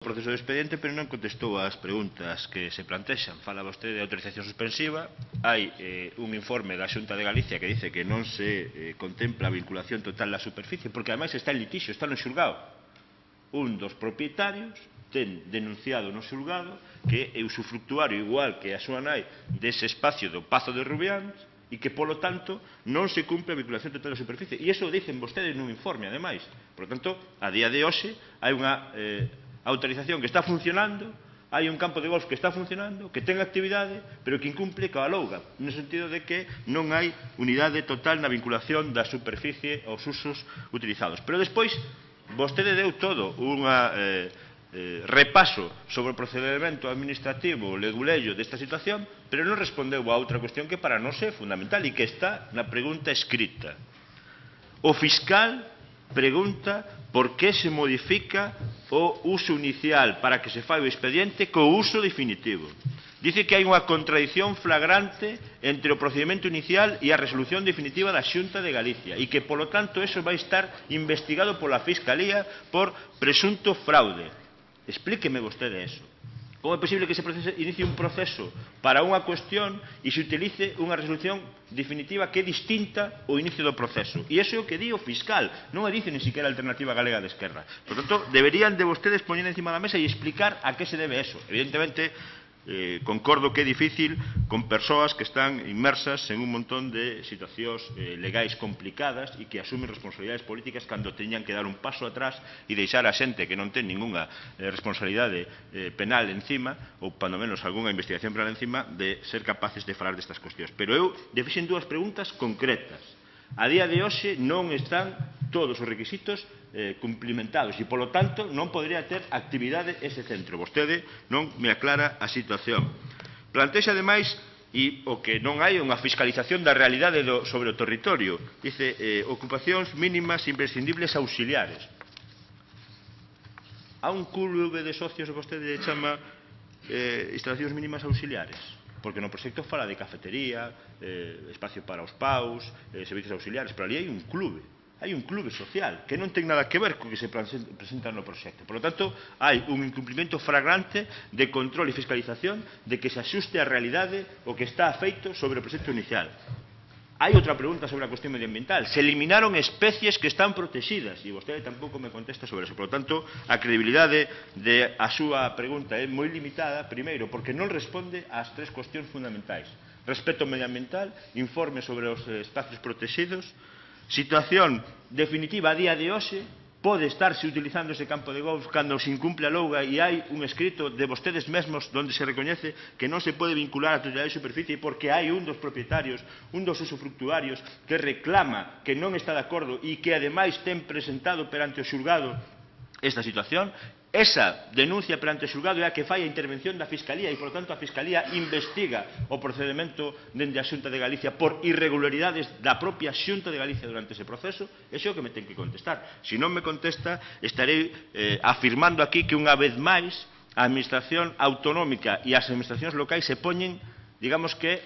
proceso de expediente, pero non contestou ás preguntas que se plantexan. Fala vostede de autorización suspensiva. Hai un informe da Xunta de Galicia que dice que non se contempla a vinculación total da superficie, porque ademais está en litixio, está no xulgado. Un dos propietarios ten denunciado no xulgado que é usufructuario igual que a súa nai dese espacio do Pazo de Rubiáns e que, polo tanto, non se cumpre a vinculación total da superficie. E iso o dicen vostedes nun informe, ademais. Por lo tanto, a día de hoxe, hai unha autorización que está funcionando, hai un campo de golf que está funcionando, que ten actividade, pero que incumple coa louga, no sentido de que non hai unidade total na vinculación da superficie aos usos utilizados. Pero despois, vostede deu todo un repaso sobre o procedimento administrativo leguleyo desta situación, pero non respondeu a outra cuestión que para nós é fundamental e que está na pregunta escrita. O fiscal pregunta por que se modifica o uso inicial para que se fai o expediente co uso definitivo. Dice que hai unha contradición flagrante entre o procedimento inicial e a resolución definitiva da Xunta de Galicia e que, polo tanto, eso vai estar investigado pola Fiscalía por presunto fraude. Explíqueme vostede eso. Como é posible que se inicie un proceso para unha cuestión e se utilice unha resolución definitiva que é distinta ao inicio do proceso? E iso é o que di o fiscal, non o dice ni siquiera a Alternativa Galega de Esquerra. Por tanto, deberían de vostedes poñer encima da mesa e explicar a que se debe eso. Evidentemente, concordo que é difícil con persoas que están inmersas en un montón de situacións legais complicadas e que asumen responsabilidades políticas cando teñan que dar un paso atrás e deixar a xente que non ten ninguna responsabilidade penal encima ou, pando menos, algunha investigación penal encima, de ser capaces de falar destas cuestións. Pero eu fixen dúas preguntas concretas. A día de hoxe non están todos os requisitos cumplimentados e, polo tanto, non podería ter actividade ese centro. Vostede non me aclara a situación. Plantexa, ademais, e o que non hai unha fiscalización da realidade sobre o territorio. Dice, ocupacións mínimas imprescindibles auxiliares. A un clube de socios que vostede chama instalacións mínimas auxiliares? Porque no proxecto fala de cafetería, espacio para os paus, servicios auxiliares, pero ali hai un clube. Hai un clube social que non ten nada que ver co que se presenta no proxecto. Por lo tanto, hai un incumprimento flagrante de control e fiscalización de que se axuste a realidade o que está feito sobre o proxecto inicial. Hai outra pregunta sobre a cuestión medioambiental. Se eliminaron especies que están protegidas e vostede tampouco me contesta sobre eso. Por lo tanto, a credibilidade da súa pregunta é moi limitada, primeiro, porque non responde ás tres cuestións fundamentais. Respeto medioambiental, informe sobre os espacios protegidos, situación definitiva a día de hoxe, pode estarse utilizando ese campo de golf cando se incumple a louga e hai un escrito de vostedes mesmos onde se recoñece que non se pode vincular a totalidade de superficie porque hai un dos propietarios, un dos usufructuarios que reclama que non está de acordo e que ademais ten presentado perante o xulgado esta situación. Esa denuncia perante o xulgado é a que fai a intervención da Fiscalía e, por tanto, a Fiscalía investiga o procedimento dende a Xunta de Galicia por irregularidades da propia Xunta de Galicia durante ese proceso. Iso é o que me ten que contestar. Se non me contesta, estarei afirmando aquí que unha vez máis a Administración autonómica e as administracións locais se poñen, digamos que,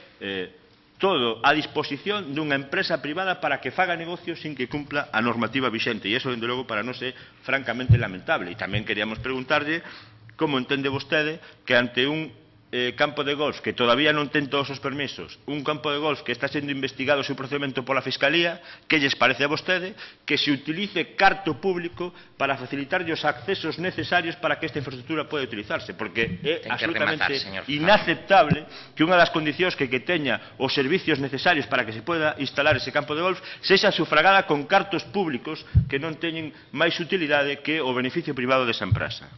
todo a disposición dunha empresa privada para que faga negocios sin que cumpla a normativa vixente. E iso, dende logo, para nós é francamente lamentable. E tamén queríamos preguntarlle como entende vostede que ante un campo de golf que todavía non ten todos os permisos, un campo de golf que está sendo investigado o seu procedimento pola Fiscalía, que lles parece a vostede que se utilice carto público para facilitar os accesos necesarios para que esta infraestructura poida utilizarse? Porque é absolutamente inaceptable que unha das condicións que teña os servicios necesarios para que se poida instalar ese campo de golf sexa sufragada con cartos públicos que non teñen máis utilidade que o beneficio privado desa empresa.